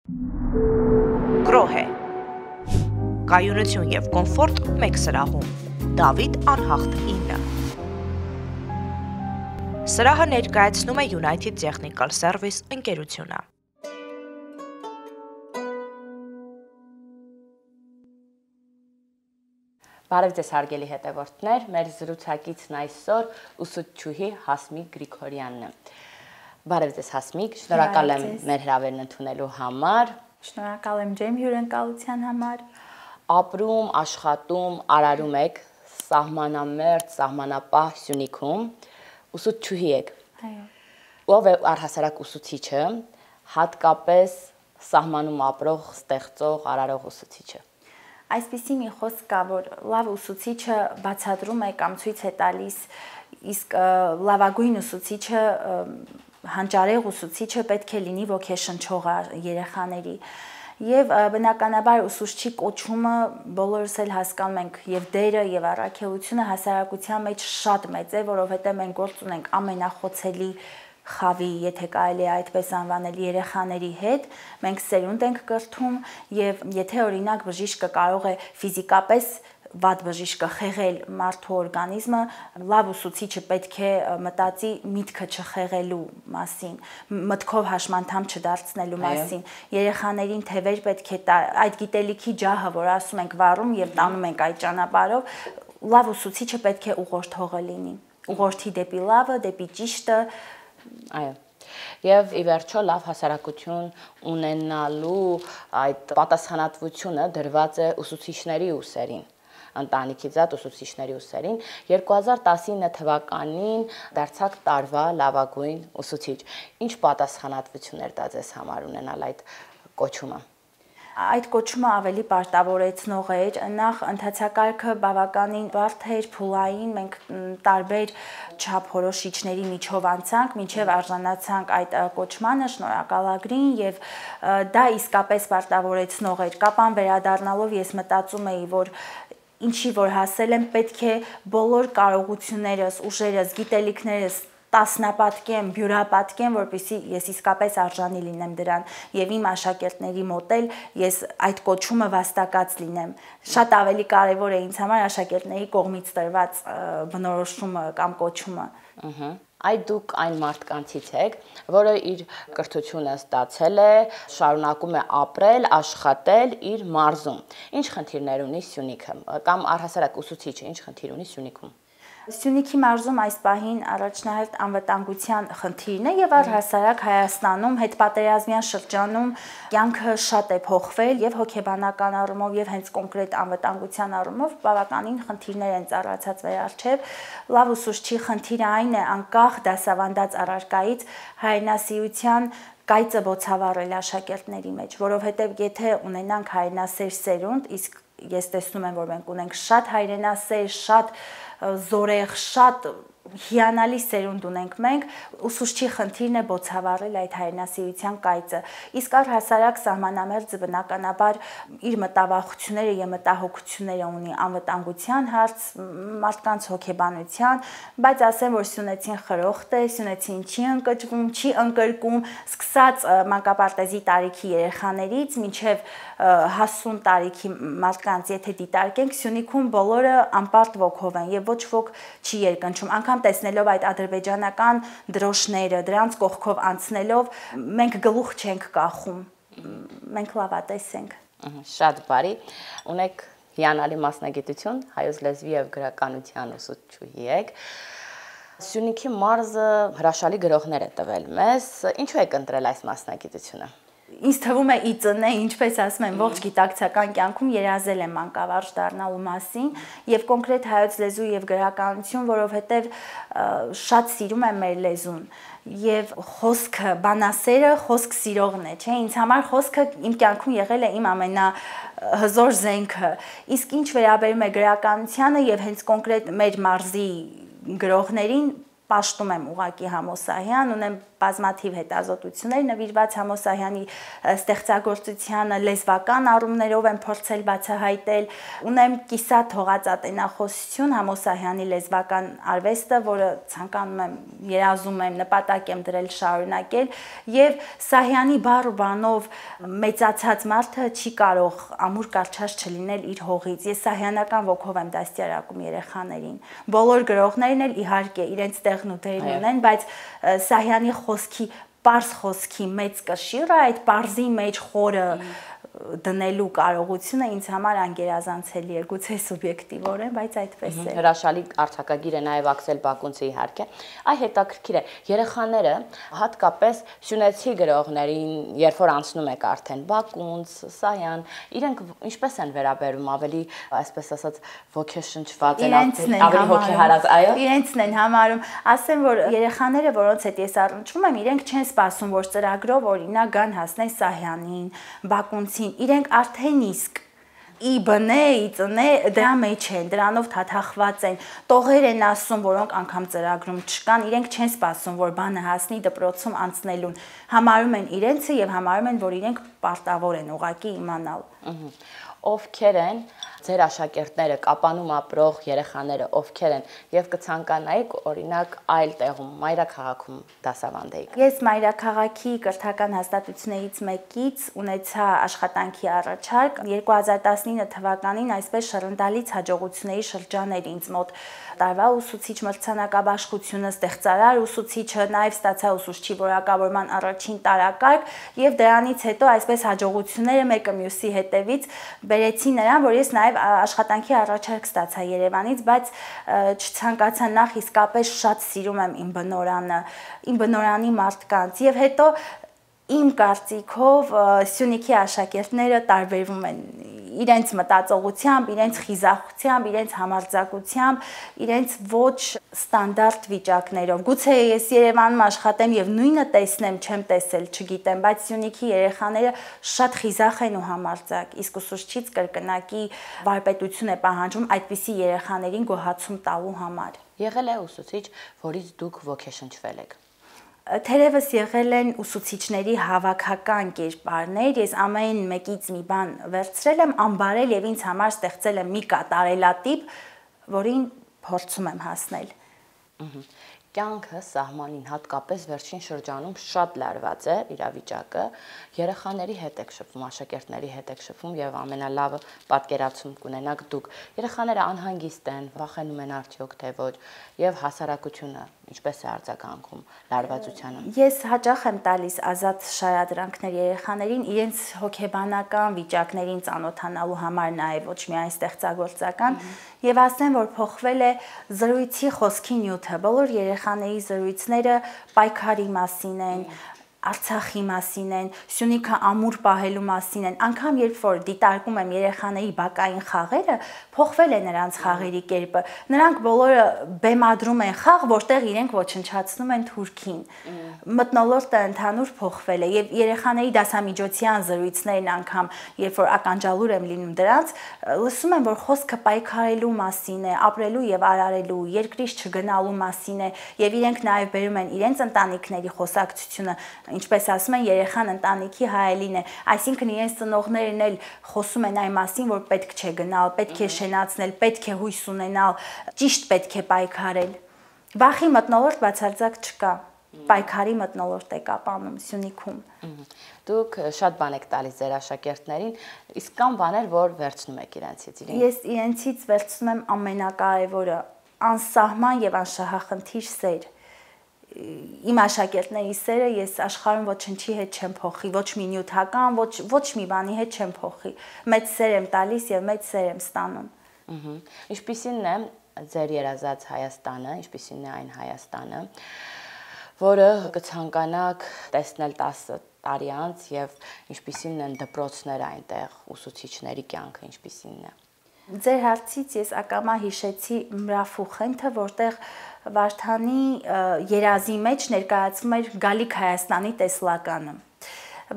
Գրոհ է։ Կայունություն և կոմֆորտ մեկ սրահում։ Դավիթ անհախտ 9։ Սրահը ներկայացնում է United Technical Service ընկերությունը։ Բարև ձեզ հարգելի հետևորդներ, մեր զրուցակիցն այսօր ուսուցչուհի Հասմիկ Գրիգորյանն է։ Բարև ձեզ Հասմիկ, շնորհակալ եմ մեր հրավերն ընդունելու համար։ Շնորհակալ եմ ջեմ հյուրընկալության համար։ Ապրում, աշխատում, արարում եք սահմանամերձ, սահմանապահ Սյունիքում, ուսուցչուհի եք։ Այո։ Ով է առհասարակ ուսուցիչը, հատկապես սահմանում ապրող, ստեղծող, արարող ուսուցիչը։ Այսպիսի մի խոսք կա, որ լավ ուսուցիչը բացատրում է կամ ցույց է տալիս, իսկ լավագույն ուսուցիչը, հանճարեղ ուսուցիչը պետք է լինի ոգեշնչող երեխաների։ Եվ բնականաբար ուսուցչի կոչումը բոլորս էլ հասկանում ենք, եւ դերը եւ առաքելությունը հասարակության մեջ շատ մեծ է, որովհետեւ մենք գործ ունենք ամենախոցելի խավի, եթե կարելի է այդպես անվանել, երեխաների հետ, մենք սերունդ ենք կրթում եւ եթե օրինակ բժիշկը կարող է ֆիզիկապես վատ բժիշկը խեղել մարդու օրգանիզմը, լավ ուսուցիչը պետք է մտածի միտքը չխեղելու մասին, մտքով հաշմանդամ չդարձնելու մասին, երեխաներին թևեր պետք է տա, այդ գիտելիքի ջահը, որ ասում ենք վառում եւ տանում ենք այդ ճանապարհով, լավ ուսուցիչը պետք է ուղղորդողը լինի, ուղղորդի դեպի լավը, դեպի ճիշտը։ Այո։ Եվ ի վերջո լավ հասարակություն ունենալու այդ պատասխանատվությունը դրված է ուսուցիչների ուսերին, ընտանիքի զատ ուսուցիչների ուսերին։ 2019 թվականին դարձաք տարվա լավագույն ուսուցիչ։ Ինչ պատասխանատվություն էր դա ձեզ համար ունենալ այդ կոչումը։ Այդ կոչումը ավելի պարտավորեցնող էր, նախ ընթացակարգը բավականին բարդ էր, փուլային, մենք տարբեր չափորոշիչների միջով անցանք, մինչև արժանացանք այդ կոչմանը, շնորհակալագրին եւ դա իսկապես պարտավորեցնող էր։ Կապան վերադառնալով ես մտածում էի, որ ինչի որ հասել եմ, պետք է բոլոր կարողություններս, ուժերս, գիտելիքներս տասնապատկեմ, բյուրապատկեմ, որպեսզի ես իսկապես արժանի լինեմ դրան եւ իմ աշակերտների մոտ էլ ես այդ կոչումը վաստակած լինեմ։ Շատ ավելի կարեւոր է ինձ համար աշակերտների կողմից տրված բնորոշումը կամ կոչումը։ Այդ դուք այն մարդկանցից եք, որը իր կրթությունը ստացել է, շարունակում է ապրել, աշխատել իր մարզում։ Ինչ խնդիրներ ունի Սյունիքը կամ առհասարակ ուսուցիչը ինչ խնդիր ունի Սյունիքում։ Սյունիքի մարզում այս պահին առաջնահերթ անվտանգության խնդիրն է եւ առհասարակ Հայաստանում հետպատերազմյան շրջանում կյանքը շատ է փոխվել եւ հոգեբանական առումով եւ հենց կոնկրետ անվտանգության առումով բավականին խնդիրներ են ծառացած վերարչեւ։ Լավ ուսուցչի խնդիրը այն է անկախ դասավանդած առարկայից հայրենասիրության կայծը բոցավառել աշակերտների մեջ, որովհետեւ եթե ունենանք հայրենասեր սերունդ, իսկ ես տեսնում եմ, որ մենք ունենք շատ հայրենասեր, շատ զորեղ, շատ հիանալի սերունդ ունենք մենք, ուսուցչի խնդիրն է բոցավառել այդ հայրենասիրության կայծը։ Իսկ առհասարակ սահմանամերձը բնականաբար իր մտավախությունները եւ մտահոգությունները ունի անվտանգության հարց, մարդկանց հոգեբանության, բայց ասեմ, որ Սյունեցին խրոխտ է, Սյունեցին չի ընկճվում, չի ընկրկում, սկսած մանկապարտեզի տարիքի երեխաներից մինչև հասուն տարիքի մարդկանց, եթե դիտարկենք, Սյունիքում բոլորը անպարտ ոգով են եւ ոչ ոք չի երկնչում, անգամ տեսնելով այդ ադրբեջանական դրոշները, դրանց կողքով անցնելով, մենք գլուխ չենք կախում, մենք լավատես ենք։ Շատ բարի, ունեք հիանալի մասնագիտություն, հայոց լեզվի եւ գրականության ուսուցչուհի եք։ Սյունիքի մարզը հրաշալի գրողներ է տվել մեզ, ինչու եք ընտրել այս մասնագիտությունը։ Ինձ թվում է իծն է, ինչպես ասում են, ողջ գիտակցական կյանքում երազել եմ մանկավարժ դառնալու մասին եւ կոնկրետ հայոց լեզու եւ գրականություն, որովհետեւ շատ սիրում եմ մեր լեզուն եւ խոսքը, բանասերը խոսք սիրողն է, չէ՞, ինձ համար խոսքը իմ կյանքում եղել է իմ ամենահզոր զենքը։ Իսկ ինչ վերաբերում է գրականությանը եւ հենց կոնկրետ մեր մարզի գրողներին, պաշտում եմ ուղակի Համոսահյան, ունեմ բազմաթիվ հետազոտություններ նվիրված Համոսահյանի ստեղծագործությանը, լեզվական առումներով եմ փորձել բացահայտել։ Ունեմ կիսատ հողածատենախոսություն Համոսահյանի լեզվական արվեստը, որը ցանկանում եմ, երազում եմ, նպատակ եմ դրել շարունակել, եւ Սահյանի բառ ու բանով մեծացած մարդը չի կարող ամուր կարճած չլինել իր հողից։ Ես սահյանական ոգով եմ դաստիարակում երեխաներին։ Բոլոր գրողներն էլ իհարկե իրենց տեղն ու դերն ունեն, բայց Սահյանի խոսքի, պարզ խոսքի մեծ կշիռը, այդ պարզի մեջ խորը դնելու կարողությունը ինձ համար անգերազանցելի է, գուցե սուբյեկտիվորեն, բայց այդպես է։ Հրաշալի արձակագիր է նաև Աքսել Բակունցը իհարկե։ Այ հետաքրքիր է, երեխաները հատկապես սյունեցի գրողներին, երբ որ անցնում եք արդեն Բակունց, Սահյան, իրենք ինչպես են վերաբերում, ավելի, այսպես ասած, ոգեշնչված են, ավելի հոգեհարած, այո։ Իրենցն են համարում, ասեմ, որ երեխաները, որոնց հետ ես առնչվում եմ, իրենք չեն սպասում, որ ծրագրով օրինակ գան հասնեն Սահյանին, Բակունցին, իրենք արդեն իսկ ի բնե, ի ծնե դրա մեջ են, դրանով թաթախված են, տողեր են ասում, որոնք անգամ ծրագրում չկան, իրենք չեն սպասում, որ բանը հասնի դպրոցում անցնելուն, համարում են իրենցը եւ համարում են, որ իրենք պարտավոր են ուղակի իմանալ։ Ովքեր են ձեր աշակերտները, Կապանում ապրող երեխաները, ովքեր են եւ կցանկանայիք օրինակ այլ տեղում, մայրաքաղաքում դասավանդեիք։ Ես մայրաքաղաքի կրթական հաստատություններից մեկից ունեցա աշխատանքի առաջարկ 2019 թվականին այսպես շռնդալից հաջողությունների շրջան էր ինձ մոտ տարվա ուսուցիչ մրցանակաբաշխությունը, ստեղծարար ուսուցիչը, նաև ստացա ուսուցչի որակավորման առաջին տարակարգ եւ դրանից հետո այսպես հաջողությունները մեկը մյուսի հետևից բերեցի նրան, որ ես նաև աշխատանքի առաջարկ ստացա Երևանից, բայց չցանկացա նախ իսկապես շատ սիրում եմ իմ բնորանի մարդկանց եւ հետո իմ կարծիքով Սյունիքի աշակերտները տարբերվում են իրենց մտածողությամբ, իրենց խիզախությամբ, իրենց համարձակությամբ, իրենց ոչ ստանդարտ վիճակներով։ Գուցե ես Երևանում աշխատեմ եւ նույնը տեսնեմ, չեմ տեսել, չգիտեմ, բայց Սյունիքի երեխաները շատ խիզախ են ու համարձակ, իսկ ուսուցչից կրկնակի վարպետություն է պահանջում այդպիսի երեխաներին գոհացում տալու համար։ Եղել է ուսուցիչ, որից դուք ոգեշնչվել եք։ Թերևս եղել են ուսուցիչների հավաքական կերպարներ, ես ամեն մեկից մի բան վերցրել եմ, անբարել եւ ինձ համար ստեղծել եմ մի կատարելատիպ, որին փորձում եմ հասնել։ Կյանքը սահմանին հատկապես վերջին շրջանում շատ լարված է իրավիճակը, երեխաների հետ եք շփվում, աշակերտների հետ եք շփվում եւ ամենալավը պատկերացում կունենաք դուք։ Երեխաները անհանգիստ են, վախենում են արդյոք թե ոչ եւ հասարակությունը ինչպես է արձագանքում լարվածությանը։ Ես հաճախ եմ տալիս ազատ շարադրանքներ երեխաներին իրենց հոգեբանական վիճակներին ծանոթանալու համար նաեւ ոչ միայն ստեղծագործական եւ ասեմ, որ փոխվել է զրույցի խոսքի նյութը, բոլոր երեխաների զրույցները պայքարի մասին են, Արցախի մասին են, Սյունիքը ամուր պահելու մասին են, անգամ երբ որ դիտարկում եմ երեխաների բակային խաղերը, փոխվել է նրանց խաղերի կերպը։ Նրանք բոլորը բեմադրում են խաղ, որտեղ իրենք ոչնչացնում են թուրքին։ Մթնոլորտը ընդհանուր փոխվել է եւ երեխաների դասամիջոցյան զրույցներն անգամ, երբ որ ականջալուր եմ լինում դրանց, լսում եմ, որ խոսքը պայքարելու մասին է, ապրելու եւ արարելու, երկրից չգնալու մասին է եւ իրենք նաեւ բերում են իրենց ընտանիքների խոսակցությունը, ինչպես ասում են, երեխան ընտանիքի հայելին է, այսինքն իրենց ծնողներն էլ խոսում են այն մասին, որ պետք չէ գնալ, պետք է շենացնել, պետք է հույս ունենալ, ճիշտ պետք է պայքարել։ Վախի մթնոլորտ բացարձակ չկա, պայքարի մթնոլորտ է Կապանում, Սյունիքում։ Դուք շատ բան եք տալիս ձեր աշակերտներին, իսկ կան բաներ, որ վերցնում եք իրենցից։ Ես իրենցից վերցնում եմ ամենակարևորը, անսահման եւ անշահախնդիր սեր։ Իմ աշակերտների սերը ես աշխարհում ոչնչի հետ չեմ փոխի, ոչ մի նյութական, ոչ մի բանի հետ չեմ փոխի։ Մեծ սեր եմ տալիս եւ մեծ սեր եմ ստանում։ Ինչպիսին է ձեր երազած Հայաստանը, ինչպիսին է այն Հայաստանը, որը կցանկանաք տեսնել 10 տարի անց եւ ինչպիսին են դպրոցները այնտեղ, ուսուցիչների կյանքը ինչպիսին է։ Ձեր հարցից ես ակամա հիշեցի Մրաֆուխենթը, որտեղ Վարդանի երազի մեջ ներկայացվում էր Գալիք Հայաստանի տեսլականը,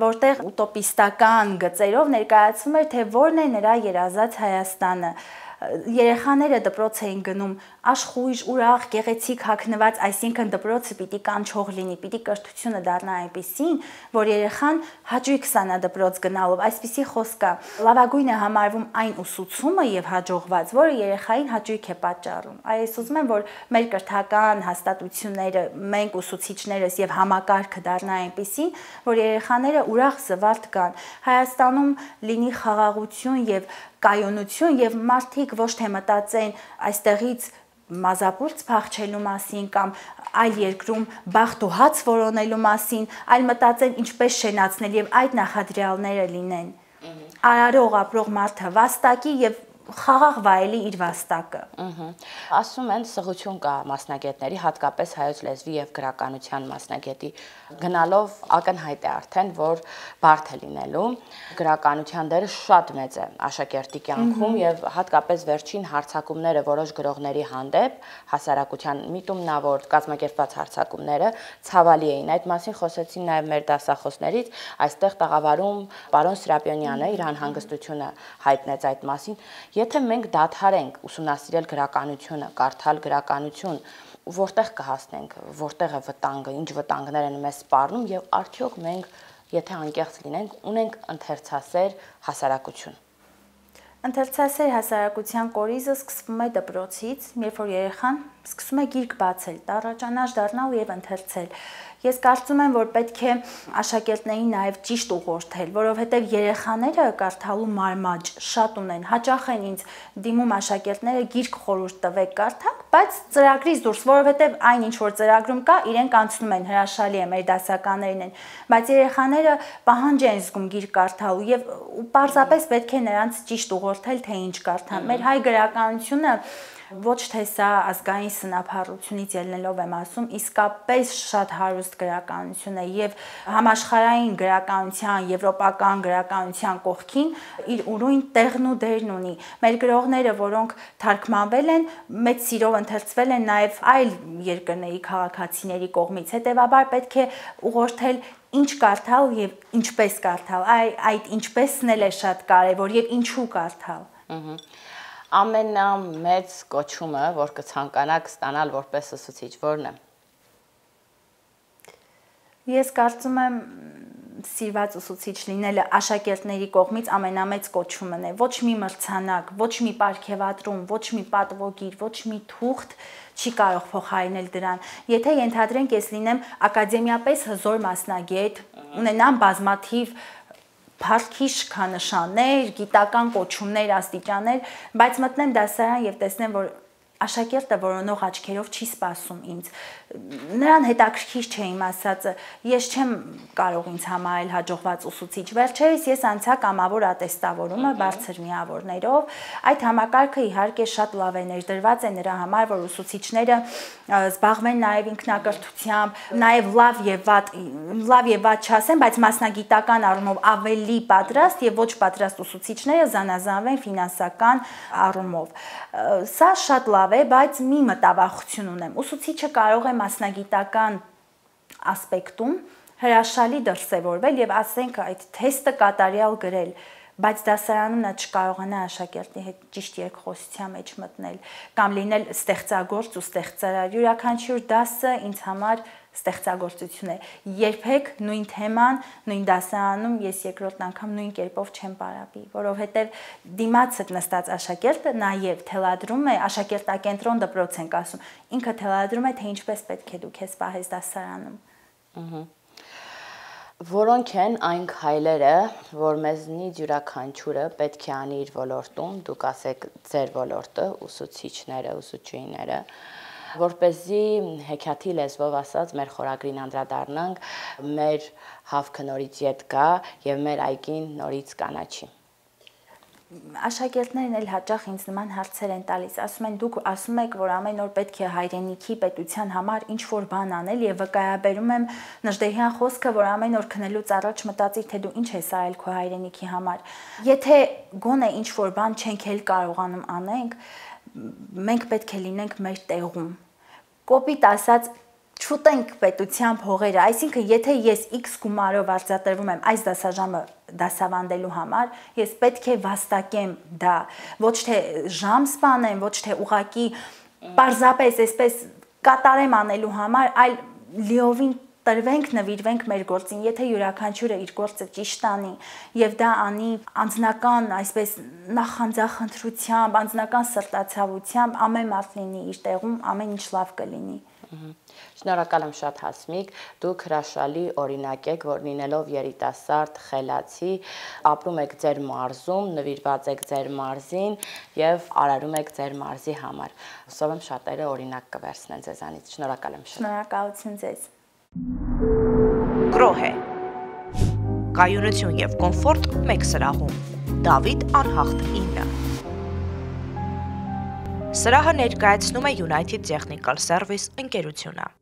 որտեղ ուտոպիստական գծերով ներկայացվում էր, թե որն է նրա երազած Հայաստանը։ երեխաները դպրոց էին գնում աշխույժ, ուրախ, գեղեցիկ հագնված, այսինքն դպրոցը պիտի կանչող լինի, պիտի կրթությունը դառնա այնպեսին, որ երեխան հաճույք ստանա դպրոց գնալով, այսպիսի խոսք կա։ Լավագույն է համարվում այն ուսուցումը եւ հաջողված, որը երեխային հաճույք է պատճառում։ Այս ուզում եմ, որ մեր կրթական հաստատությունները, մենք ուսուցիչներս եւ համակարգը դառնա այնպեսին, որ երեխաները ուրախ զվարթ գան։ Հայաստանում լինի խաղաղություն եւ կայունություն եւ մարդիկ ոչ թե մտածեն այստեղից մազապուրց փախչելու մասին կամ այլ երկրում բախտ ու հաց որոնելու մասին, այլ մտածեն ինչպես շենացնել եւ այդ նախադրյալները լինեն։ Արարող ապրող մարդը վաստակի եւ խաղաղ վայելի իր վաստակը։ Ասում են սղություն կա մասնագետների, հատկապես հայոց լեզվի եւ գրականության մասնագետի գնալով ակնհայտ է արդեն, որ բարդ է լինելու։ Գրականության դերը շատ մեծ է աշակերտի կյանքում եւ հատկապես վերջին հարձակումները որոշ գրողների հանդեպ հասարակության միտումնավոր կազմակերպված հարձակումները ցավալի էին։ Այդ մասին խոսեցին նաեւ մեր դասախոսներից, այստեղ տաղավարում պարոն Սրապյոնյանը իր անհանգստությունը հայտնեց այդ մասին։ Եթե մենք դադարենք ուսումնասիրել գրականությունը, կարդալ գրականություն, որտեղ կհասնենք, որտեղ է վտանգը, ինչ վտանգներ են մեզ սպառնում եւ արդյոք մենք, եթե անկեղծ լինենք, ունենք ընթերցասեր հասարակություն։ Ընթերցասեր հասարակության կորիզը սկսվում է դպրոցից, երբ որ երեխան սկսում է գիրք բացել, տառաճանաշ դառնալ եւ ընթերցել։ Ես կարծում եմ, որ պետք է աշակերտներին նաև ճիշտ ուղղորդել, որովհետև երեխաները կարդալու մարմաճ շատ ունեն, հաճախ են ինձ դիմում աշակերտները գիրք խորհուրդ տվեք կարդանք, բայց ծրագրից դուրս, որովհետև այն ինչ որ ծրագրում կա, իրենք անցնում են, հրաշալի է, մեր դասականներն են, բայց երեխաները պահանջ են զգում գիրք կարդալու եւ պարզապես պետք է նրանց ճիշտ ուղղորդել, թե ինչ կարդան։ Մեր հայ գրականությունը ոչ թե սա ազգային սնափառությունից ելնելով եմ ասում, իսկապես շատ հարուստ գրականություն է եւ համաշխարհային գրականության, եվրոպական գրականության կողքին իր ուրույն տեղն ու դերն ունի։ Մեր գրողները, որոնք թարգմանվել են, մեծ սիրով ընթերցվել են նաեւ այլ երկրների քաղաքացիների կողմից, հետեւաբար պետք է ուղղորդել ինչ կարդալ եւ ինչպես կարդալ, այդ ինչպեսն էլ է շատ կարեւոր եւ ինչու կարդալ։ Ամենամեծ կոչումը, որ կցանկանաք ստանալ որպես ուսուցիչ, որն է։ Ես կարծում եմ սիրված ուսուցիչ լինելը աշակերտների կողմից ամենամեծ կոչումն է։ Ոչ մի մրցանակ, ոչ մի պարգևատրում, ոչ մի պատվոգիր, ոչ մի թուղթ չի կարող փոխարինել դրան։ Եթե ենթադրենք ես լինեմ ակադեմիապես հզոր մասնագետ, ունենամ բազմաթիվ փառքի շքանշաններ, գիտական կոչումներ, աստիճաններ, բայց մտնեմ դասարան եւ տեսնեմ, որ աշակերտը որոնող աչքերով չի սպասում ինձ։ Նրան հետաքրքիր չէ իմ ասածը, ես չեմ կարող ինձ համարել հաջողված ուսուցիչ։ Վերջերս ես անցա կամավոր ատեստավորումը բարձր միավորներով։ Այդ համակարգը իհարկե շատ լավ է ներդրված է նրա համար, որ ուսուցիչները զբաղվեն նաև ինքնակրթությամբ, նաև լավ եւ վատ չասեմ, բայց մասնագիտական առումով ավելի պատրաստ եւ ոչ պատրաստ ուսուցիչները զանազանվեն ֆինանսական առումով։ Սա շատ լավ է, բայց մի մտավախություն ունեմ։ Ուսուցիչը կարող է մասնագիտական ասպեկտում հրաշալի դրսևորվել եւ ասենք այդ թեստը կատարյալ գրել, բայց դասարանում նա չկարողանա աշակերտի հետ ճիշտ երկխոսության մեջ մտնել կամ լինել ստեղծագործ ու ստեղծարար։ Յուրաքանչյուր դասը ինձ համար ստեղծագործություն է։ Երբեք նույն թեման, նույն դասարանում ես երկրորդ անգամ նույն կերպով չեմ պարապի, որովհետև դիմացդ նստած աշակերտը նաև թելադրում է, աշակերտակենտրոն դպրոց ենք ասում, ինքը թելադրում է, թե ինչպես պետք է դու քեզ պահես դասարանում։ Որոնք են այն քայլերը, որ մեզնից յուրաքանչյուրը պետք է անի իր ոլորտում, դուք ասեք ձեր ոլորտը, ուսուցիչները, ուսուցչուհիները, որպեսզի հեքիաթի լեզվով ասած մեր խորագրին անդրադառնանք, մեր հավքը նորից ետ գա եւ մեր այգին նորից կանաչի։ Աշակերտներն էլ հաճախ ինձ նման հարցեր են տալիս, ասում են դուք ասում եք, որ ամեն օր պետք է հայրենիքի պետության համար ինչ-որ բան անել եւ վկայաբերում եմ Նժդեհյան խոսքը, որ ամեն օր քնելուց առաջ մտածի, թե դու ինչ ես արել քո հայրենիքի համար։ Եթե գոնե ինչ-որ բան չենք էլ կարողանում անենք, մենք պետք է լինենք մեր տեղում։ Կոպիտ ասած չուտենք պետության փողերը, այսինքն եթե ես X գումարով արձատրվում եմ այս դասաժամը դասավանդելու համար, ես պետք է վաստակեմ դա, ոչ թե ժամ սպանեմ, ոչ թե ուղակի պարզապես այսպես կատարեմ անելու համար, այլ լիովին տրվենք, նվիրվենք մեր գործին, եթե յուրաքանչյուրը իր գործը ճիշտ անի եւ դա անի անձնական, այսպես նախանձախնդրությամբ, անձնական սրտացավությամբ, ամեն մարդ լինի իր տեղում, ամեն ինչ լավ կլինի։ Շնորհակալ եմ շատ Հասմիկ, դուք հրաշալի օրինակ եք, որ լինելով երիտասարդ, խելացի, ապրում եք ձեր մարզում, նվիրված եք ձեր մարզին եւ արարում եք ձեր մարզի համար։ Հուսով եմ շատերը օրինակ կվերցնեն ձեզանից։ Շնորհակալ եմ շատ։ Շնորհակալություն ձեզ։ Կրոհե։ Կայունություն եւ կոմֆորտ մեկ սրահում։ Դավիթ Անհախտ 9։ Սրահը ներկայացնում է United Technical Service ընկերությունը։